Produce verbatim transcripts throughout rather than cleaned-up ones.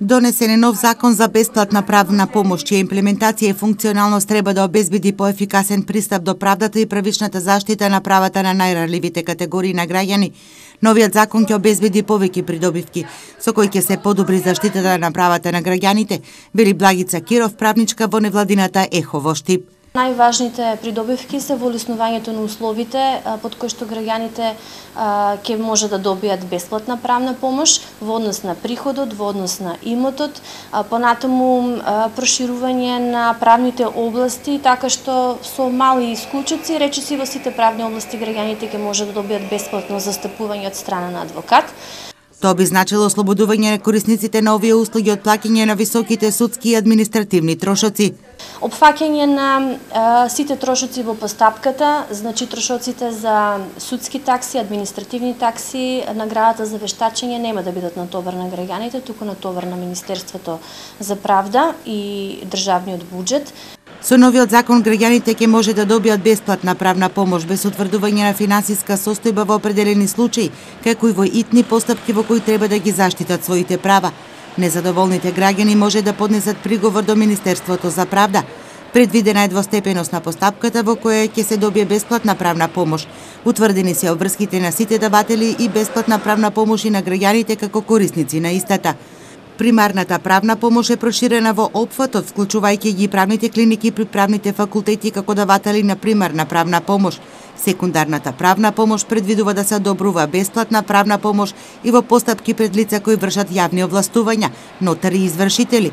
Донесен е нов закон за бесплатна правна помош, чија имплементација и функционалност треба да обезбеди поефикасен пристап до правдата и правичната заштита на правата на најранливите категории на граѓани. Новиот закон ќе обезбеди повеќе придобивки, со кои ќе се подобри заштитата на правата на граѓаните, вели Благица Киров, правничка во невладината ЕХО во Штип. Најважните придобивки се во улеснувањето на условите под кои што граѓаните ќе може да добијат бесплатна правна помош во однос на приходот, во однос на имотот, понатаму проширување на правните области, така што со мали исклучоци, речиси во сите правни области граѓаните ќе може да добијат бесплатно застапување од страна на адвокат. Тоа би значило ослободување на корисниците на овие услуги од плаќање на високите судски и административни трошоци. Опфаќање на а, сите трошоци во постапката, значи трошоците за судски такси, административни такси, наградата за вештачење нема да бидат натовар на граѓаните, туку натовар на Министерството за правда и државниот буџет. Со новиот закон граѓаните ќе може да добијат бесплатна правна помош без утврдување на финансиска состојба во определени случаи, како и во итни постапки во кои треба да ги заштитат своите права. Незадоволните граѓани може да поднесат приговор до Министерството за правда. Предвидена е двостепеност на постапката во која ќе се добие бесплатна правна помош. Утврдени се обврските на сите даватели и бесплатна правна помош и на граѓаните како корисници на истата. Примарната правна помош е проширена во опфатот, вклучувајќи ги правните клиники при правните факултети како даватели на примарна правна помош. Секундарната правна помош предвидува да се одобрува бесплатна правна помош и во постапки пред лица кои вршат јавни овластувања, нотари и извршители.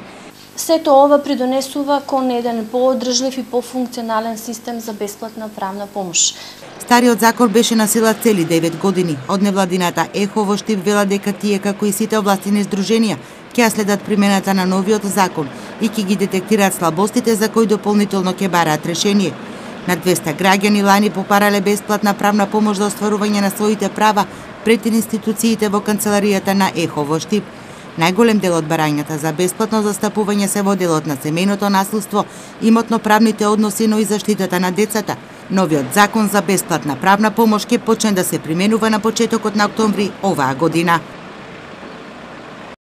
Сето ова придонесува кон еден поодржлив и пофункционален систем за бесплатна правна помош. Стариот закон беше на сила цели девет години. Од невладината ЕХО во Штип вела дека тие, како и сите овластени здруженија, ќе следат примената на новиот закон и ќе ги детектираат слабостите за кои дополнително ќе бараат решение. На двеста граѓани лани попарале бесплатна правна помош за остварување на своите права пред институциите во канцеларијата на ЕХО во Штип. Најголем дел од барањата за бесплатно застапување се во делот на семејното насилство, имотно-правните односи, но и заштитата на децата. Новиот закон за бесплатна правна помош ќе почне да се применува на почетокот на октомври оваа година.